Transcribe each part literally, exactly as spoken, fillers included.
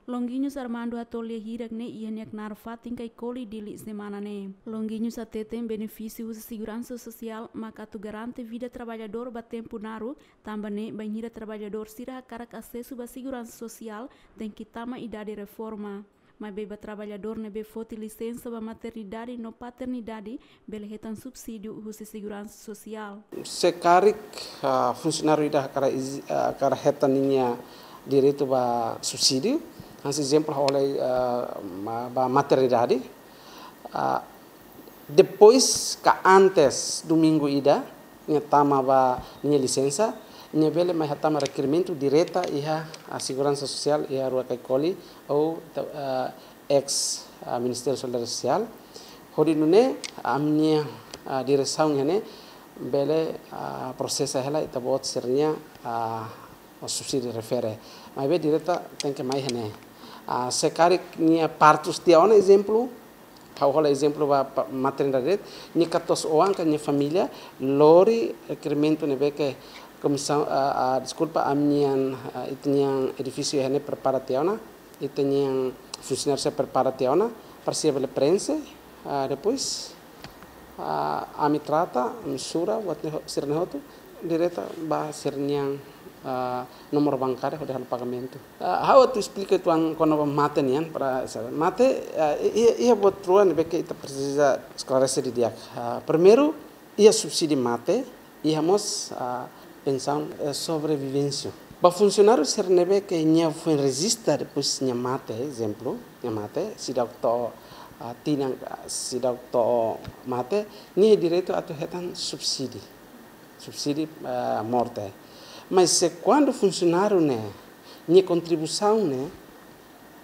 Longuinhos Armando hato'o lia hirak ne'e iha nia knaar fatin Caicoli, Dili, semana ne'e. Longuinhos hateten benefísiu husi seguransa sosiál maka atu garante vida traballadór ba tempu naruk, tanba ne'e bainhira traballadór sira hakarak asesu ba seguransa sosiál tenke tama idade reforma. Maibé ba traballadór ne'ebé foti lisensa ba maternidade no paternidade bele hetan subsídiu husi seguransa sosiál. Se karik, ah, funsionáriu ida hakarak izi-, ah, hakarak hetan ninia direitu ba subsídiu, hanesan ezemplu ha'u halo, ah, ma-, ba maternidade, ah, depois ka antes domingu ida, nia tama ba ninia lisensa, nia bele mai hatama rekerimentu direta iha, ah, seguransa sosiál iha rua Caicoli ou, ah, eis, ah, Ministériu Solidariedade Sosiál. Hodi nune'e, ami-nia, ah, diresaun iha ne'e bele, ah, prosesa hela ita-boot sira-nia, ah, subsídiu refere. Maibé direta tenke mai iha ne'e. Ah, se karik nia partus tiha ona, ezemplu, ha'u halo ezemplu ba, ba maternidade, nia katuas-oan ka nia família lori rekerimentu ne'ebé ke komisaun, ah, ah, deskulpa, ami-nian, ah, ita-nian edifísiu iha ne'e prepara tiha ona, ita-nian funsionáriu sira prepara tiha ona, para sira bele preenxe, ah, depois, ah, ami trata, ami sura, buat ne'e ho-, sira-ne'e hotu, direta ba sira-nian, ah, númeru bankáriu hodi halo pagamentu. Ah, ha'u atu esplika uitoan kona-ba mate nian, para sabe. Mate, ah, i-, iha, iha buat rua ne'ebé ke ita presiza esklarese didi'ak. Ah, primeiru, iha subsídiu mate, iha mós, ah, pensaun, eh, sobrevivência. Ba funsionáriu sira ne'ebé ke nia foin rejista depois nia mate, ezemplu, nia mate, seidauk to'o, ah, tinan, ah, seidauk to'o mate, nia direitu atu hetan subsídiu. Subsídiu, ah, morte. Mas se kuandu funsionáriu ne'e, nia kontribuisaun ne'e,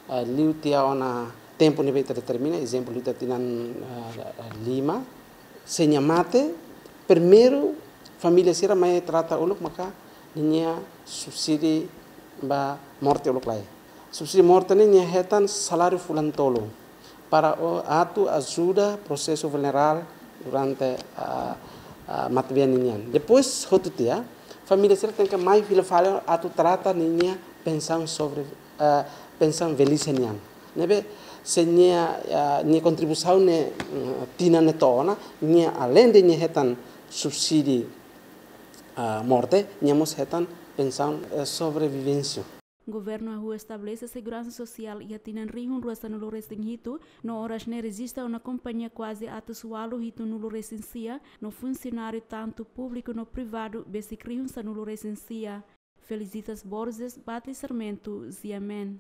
ah, liu tiha ona tempu ne'ebé ita determina, ezemplu, liu tiha tinan, ah, lima, se nia mate, primeiru família sira mai trata uluk maka ninia subsídiu ba morte uluk lai. Subsídiu morte ne'e nia hetan saláriu fulan tolu para o-, atu ajuda prosesu funerál durante, ah, ah, matebian ninian. Depois, hotu tiha, família sira tenke mai fila fali atu trata ninia pensaun sobre, ah, pensaun velhice nian. Ne'ebé, se nia, ah, nia kontribuisaun ne'e, mm, tinan ne'e to'o ona, nia além de nia hetan subsídiu, ah, morte, nia mós hetan pensaun, eh, sobrevivência. Governu hahú estabelese seguransa sosiál iha tinan rihun rua sanulu resin hitu, no oras ne'e rejista ona kompañia kuaze atus ualu hitunulu resin sia, no funsionáriu tantu públiku no privadu besik rihun sanulu resin sia. Felicitas Borges, Batli Sarmento, G M N.